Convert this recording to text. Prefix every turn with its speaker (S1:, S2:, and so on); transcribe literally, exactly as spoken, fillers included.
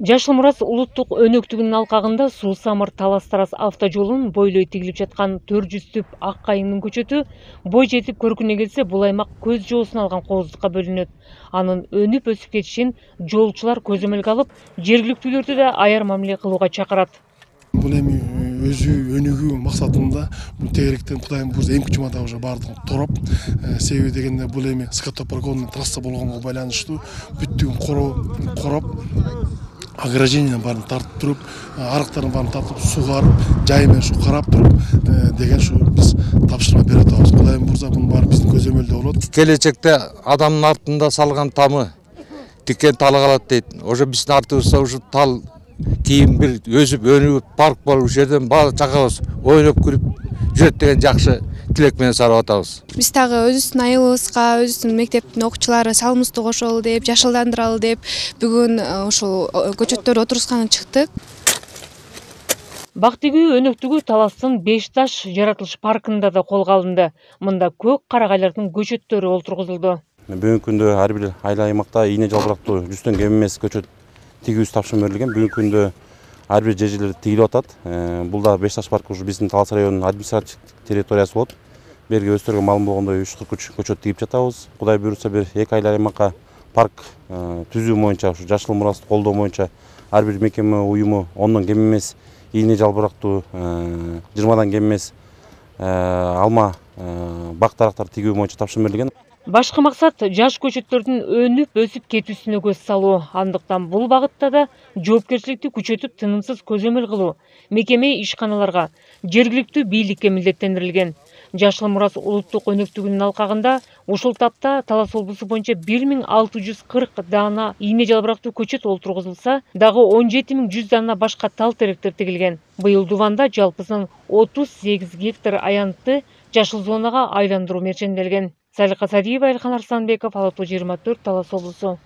S1: Жашыл Мурас улуттук өнөктүгүнүн алкагында Суу Самыр Талас Тарас автожолунун бойлой тигилип жаткан төрт жүз түп ак кайыңдын көчөтү бой жетип көркүнө келсе, бул аймак көз жоосун алган кооздукка бөлүнөт. Анын өнүп өсүп кетишин жолчулар көзөмөлгө алып, жергиликтүүлөрдү да аяр мамиле кылууга чакырат.
S2: Бул эми өзү өнүгүү максатында тегеректен Кудайым буйрса эмки жумада уже баардыгын тороп, себеби дегенде бул эми скотопрогонный трасса болгонго байланыштуу бүттүгүн короп, ограждениянын баарын тартып туруп, арыктардын баарын тартып сугарып, жай менен ушу карап туруп деген ушу биз тапшырма берип атабыз. Кудайым буйрса бунун баары биздин көзөмөлдө болот.
S3: Келечекте адамдын артында салган тамы тикен талы калат дейт. Ошо биздин артыбызда ушу тал кийин бир өсүп өнүгүп парк болуп, ушул жерден баары чакабыз ойноп күлүп жүрөт деген жакшы тилек менен сурап атабыз.
S4: Биз дагы өзүбүздүн айылыбызга, өзүбүздүн мектептин окуучулары салымыбызды кошолу деп, жашылдандыралы деп бүгүн ушул көчөттөрдү отургузганга чыктык.
S1: Бактыгүү өнөктүгү Таластын Беш Таш жаратылыш паркында да колго алынды. Мында көк карагайлардын көчөттөрү олтургузулду.
S5: Бүгүнкү күндө ар бир айыл аймакта ийне жалбырактуу жүздөн кем эмес көчөт тигүүсү тапшырма берилген. Бүгүнкү күндө ар бир жер жерлерде тигилип атат. Бул да Беш Таш паркы ушу биздин Талас районунун административдик территориясы болот. Берге өздөрүгө маалым болгондой үч кырк үч көчөт тигип жатабыз. Кудай буйрса бир эки айыл аймакка парк түзүү боюнча, ушу Жашыл Мурасты колдоо боюнча ар бир мекеме уюму ондон кем эмес ийне жалбырактуу, жыйырмадан кем эмес алма бак дарактар тигүү боюнча тапшырма берилген.
S1: Башкы максат жаш көчөттөрдүн өнүп өсүп кетүүсүнө көз салуу. Андыктан бул багытта да жоопкерчиликти күчөтүп, тынымсыз көзөмөл кылуу мекеме ишканаларга, жергиликтүү бийликке милдеттендирилген. Жашыл Мурас улуттук өнөктүгүнүн алкагында ушул тапта Талас облусу боюнча бир миң алты жүз кырк даана ийне жалбырактуу көчөт олтургузулса, дагы он жети миң жүз даана башка тал теректер тигилген. Быйыл Дуванда жалпысынан отуз сегиз гектар аянтты жашыл зонага айландыруу мерченделген. Салика Садиева, Элхан Арсланбеков, Ала тоо жыйырма төрт, Талас облусу.